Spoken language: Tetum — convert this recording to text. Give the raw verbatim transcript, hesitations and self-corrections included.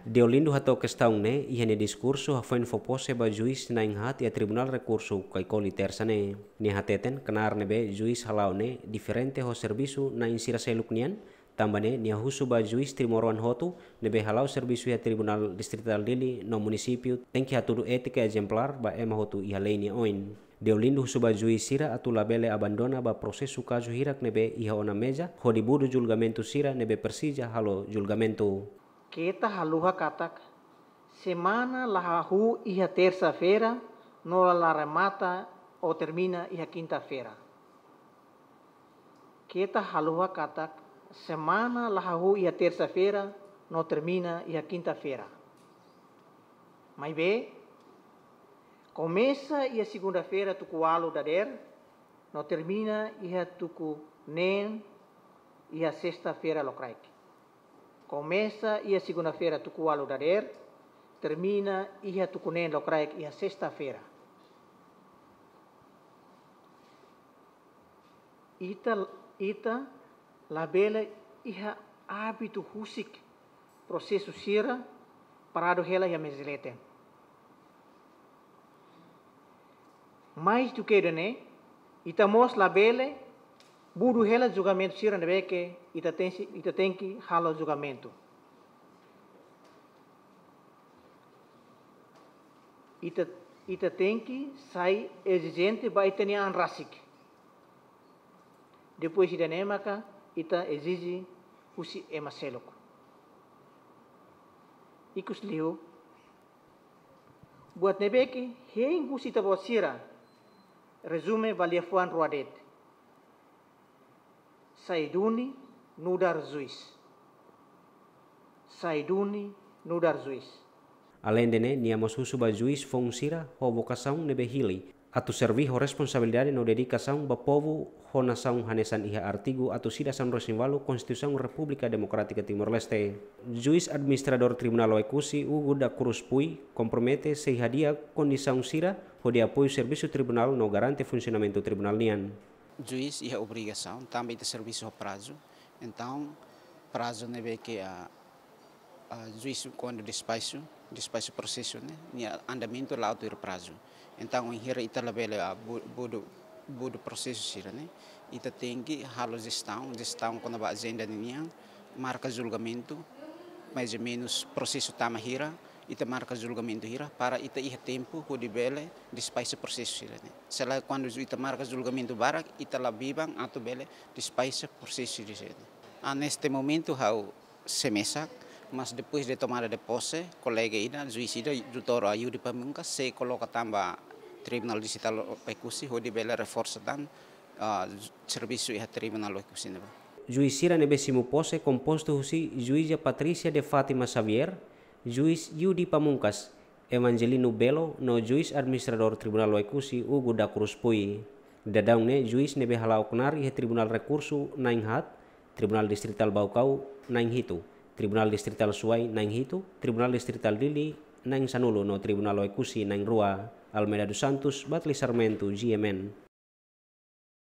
Deolindo hato'o kestaun ne'e iha nia diskursu hafoin fó pose ba juís na'in haat iha Tribunál Rekursu Caicoli, Tersa ne'e. Nia hateten knaar ne'ebé juís hala'o ne'e diferente ho servisu na'in sira seluk nian, tanba ne'e nia husu ba juís timoroan hotu ne'ebé hala'o servisu iha Tribunál Distritál Dili no munisípiu tenke hatudu étika ezemplár ba ema hotu iha lei nia oin. Deolindo husu ba juís sira atu labele abandona ba prosesu kazu hirak ne'ebé iha ona meza, hodi budu julgamentu sira ne'ebé presiza halo julgamentu. Keta haluha katak semana la hahú iha tersa-feira no la remata ou termina iha kinta-feira. Keta haluha katak semana la hahú iha tersa-feira no termina iha kinta-feira. Maibé, komesa iha segunda-feira tuku ualu dadeer, no termina iha tuku neen iha sesta-feira lokraik. Komesa iha segunda-feira tuku ualu dadeer, termina iha tuku neen lokraik iha sesta-feira. Ita, ita labele iha ábitu husik prosesu sira paradu hela iha meza leten. Mais duké ida-ne'e, ita mós labele budu hela julgamentu sira ne'ebé ke ita tensi, ita tenke halo julgamentu. Ita, ita tenke sai ezijente ba ita-nia an rasik. Depois ida-ne'e maka ita ezije husi ema seluk. Ikusliu, buat ne'ebé ke hein husi ita-boot sira, rezume ba liafuan rua de'it. Sai duni, nu'udar juís. Sai duni, nu'udar juís. Aleinde ne'e, nia mós husu ba juís foun sira ho vokasaun ne'ebé hili atu serví ho responsabilidade no dedikasaun ba povu ho nasaun hanesan iha artigu atus ida sanulu-resin-ualu Konstituisaun Repúblika Demokrátika Timor-Leste. Juís Administradór Tribunál Oekusi, Hugo da Cruz Puy, kompromete sei hadi'a kondisaun sira hodi apoiu servisu tribunál no garante funsionamentu tribunál nian. Juís iha obrigasaun, tanba ita servisu ho prazu. Entaun, prazu ne'ebé ke, ah, ah, juís kuandu despaxu, despaxu prosesu ne'e, nia andamentu la'o tuir prazu. Entaun, wainhira ita labele, ah, bu-, budu, budu prosesu sira-ne'e, ita tenke halo jestaun, jestaun kona-ba ajenda ninian, marka julgamentu, mais ou menus prosesu tama hira, ita marka julgamentu hira, para ita iha tempu hodi bele despaxa prosesu sira-ne'e. Se lae kuandu ita marka julgamentu barak, ita la biban atu bele despaxa prosesu sira-ne'e. Ah, neste momento ha'u sei mesak, mas depois de tomada de posse, kolega ida, juís ida, doutór Yudi Pamungkas, sei koloka tan ba Tribunál Distritál Oekusi, hodi bele reforsa tan, ah, servisu iha Tribunál Oekusi ne'ebá. Juís sira ne'ebé simu pose kompostu husi Juíza Patrícia de Fátima Xavier, Juís Yudi Pamungkas, Evangelino Belo no Juís Administradór Tribunál Oekusi, Hugo da Cruz Puy. Daudaun ne'e juís ne'ebé hala'o knaar iha Tribunál Rekursu na'in haat, Tribunál Distritál Baucau na'in hitu, Tribunál Distritál Suai na'in hitu, Tribunál Distritál Dili na'in sanulu no Tribunál Oekusi na'in rua. Almeida dos Santos, Batli Sarmento, G M N.